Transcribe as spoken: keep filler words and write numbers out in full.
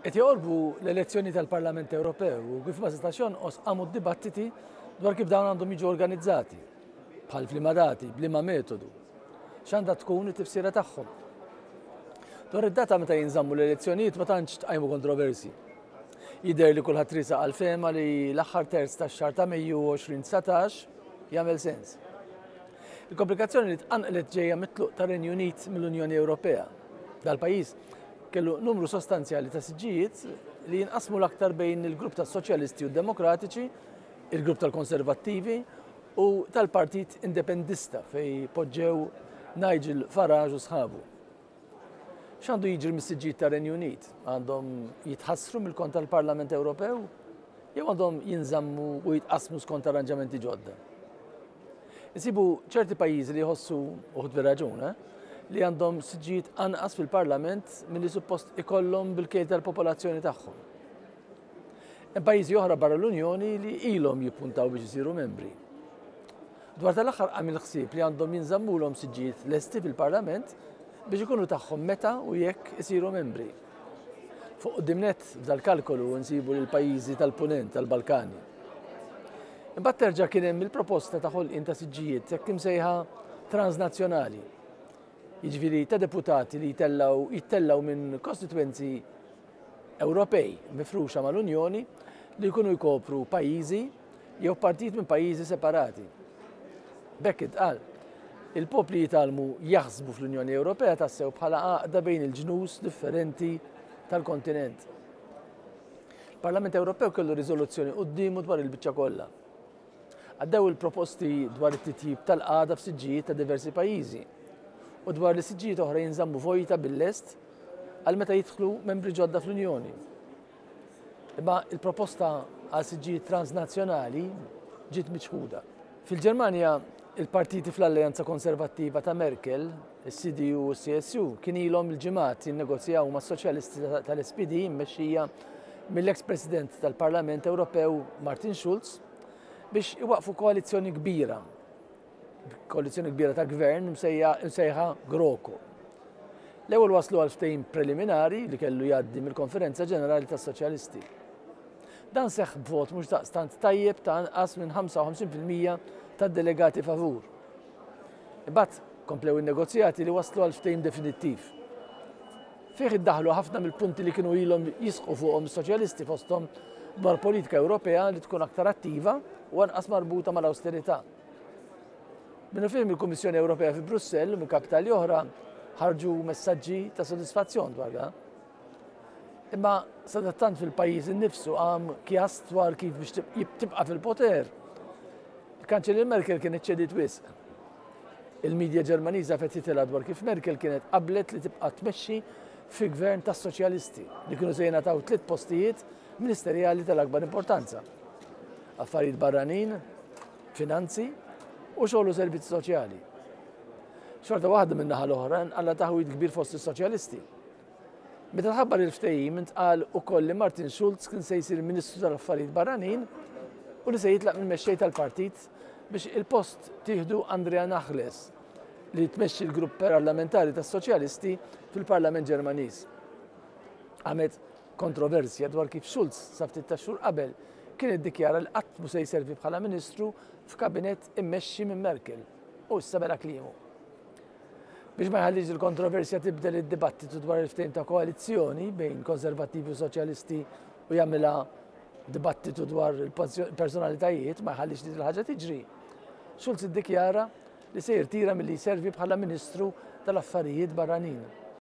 Qed joqorbu l-elezzjoni tal-Parlament Ewropew u kif ma setax jonqos qamu d-dibattiti dwar kif dawn għandhom jiġu organizzati, bħal f'liema dati, b'liema metodu. X'għandha tkun it-tifsira tagħhom. Dwar id-data meta jinżammu l-elezzjonijiet ma tantx tqajmu kontroversi. Jidher li kulħadd riesaq għall-fehma li l-aħħar terz tax-xahar ta' Mejju elfejn u dsatax jagħmel sens. Il-komplikazzjoni li tqanqlet ġejja mit-tluq tar-Renju Unit mill-Unjoni Ewropea. Dal-pajjiż kellu numru sostanzjali ta' siġġijiet li jinqasmu l-aktar bejn il-grupp tas-Soċjalisti u Demokratiċi, il-grupp tal-Konservattivi u tal-Partit Independista fej poġġew Nigel Farage u sħabu. X'għandu jiġri mis-siġġijiet tar-Renju Unit? Għandhom jitħassru mill-kont tal-Parlament Ewropew jew għandhom jinżammu u jitqasmu skont arranġamenti ġodda? Insibu ċerti pajjiżi li jħossu, uħud bir-raġun, eh, li għandhom siġġijiet anqas fil-Parlament milli suppost ikollhom bil-kejl tal-popolazzjoni tagħhom. Hemm pajjiżi oħra barra l-Unjoni li ilhom jippuntaw biex isiru membri. Dwar tal-aħħar qam il-ħsieb li għandhom jinżammulhom siġġijiet lesti fil-Parlament biex ikunu tagħhom meta u jekk isiru membri. Fuq quddiem nett f'dal-kalkolu nsibu lil pajjiżi tal-Punent tal-Balkani. Imbagħad terġa' kien hemm il-proposta ta' ħolqien ta' siġġijiet hekk imsejħa transnazzjonali. Jiġifieri ta' deputati li jitellaw jittellaw minn kostitwenzi Ewropej mifruxa mal-Unjoni li jkunu jkopru pajjiżi jew partit minn pajjiżi separati. B'hekk intqal, il-popli jitgħallmu jaħsbu fl-Unjoni Ewropea tassew bħala għaqda bejn il-ġnus differenti tal-kontinent. Il-Parlament Ewropew kellu riżoluzzjoni quddiemu dwar il-biċċa kollha. Għaddew il-proposti dwar it-titjib tal-qagħda f'siġġijiet ta' diversi pajjiżi u dwar li siġġijiet oħra jinżammu vojta bil-lest għal meta jidħlu membri ġodda fl-Unjoni. Imma il-proposta għal siġġijiet transnazzjonali ġiet miċħuda. Fil-Ġermanja, il-partiti fl-Alleanza Konservattiva ta' Merkel, il-C D U u C S U, kien ilhom il-ġimgħat jinnegozjaw ma' soċjalisti tal-S P D mmexxija mill-ex President tal-Parlament Ewropew Martin Schulz biex iwaqfu koalizzjoni kbira, koalizzjoni kbira ta' gvern msejħa GroKo. L-ewwel waslu għal ftehim preliminari li kellu jgħaddi mill-Konferenza Ġenerali tas-Soċjalisti. Dan seħħ b'vot mhux daqstant tajjeb ta' anqas minn ħamsa u ħamsin fil-mija tad-delegati favur. Imbagħad komplew in-negozjati li waslu għal ftehim definittiv. Fih iddaħlu ħafna mill-punti li kienu ilhom jisħqu fuqhom is-soċjalisti, fosthom dwar politika Ewropea li tkun aktar attiva u anqas marbuta mal-austerità. Minnufih il-Kummissjoni Ewropea fi Brussell u minn kapitali oħra ħarġu messaġġi ta' sodisfazzjon dwar dan. Imma sadattant fil-pajjiż innifsu qam kjas dwar kif biex tibqa' fil-poter. Il-Kanċellier Merkel kienet ċediet wisq. Il-medja Ġermaniża fetħitilha dwar kif Merkel kienet qablet li tibqa' tmexxi fi gvern tas-soċjalisti li kienu se jingħataw tliet postijiet ministerjali tal-akbar importanza: Affarijiet barranin, finanzi u xogħol u servizzi soċjali. Xorta waħda, minn naħa l-oħra nqala' taħwid kbir fost is-soċjalisti. Meta tħabbar il-ftehim, intqal ukoll li Martin Schulz kien se jsir Ministru tal-Affarijiet Barranin u li se jitlaq mill-mexxej tal-partit biex il-post tieħdu Andrea Nahles, li tmexxi l-grupp parlamentari tas-Soċjalisti fil-Parlament Ġermaniż. Qamet kontroversja dwar kif Schulz sa ftit ta' xhur qabel kien iddikjara li qatt mhu se jservi bħala ministru f'kabinett immexxi minn Merkel u issa bela' kliemu. Biex ma jħallix il-kontroversja tibdel id-dibattitu dwar il-ftehim ta' koalizzjoni bejn konservattivi u soċjalisti u jagħmilha dibattitu dwar il-personalitajiet, ma jħallix li l-ħaġa tiġri, Schulz iddikjara li se jirtira milli jservi bħala Ministru tal-Affarijiet Barranin.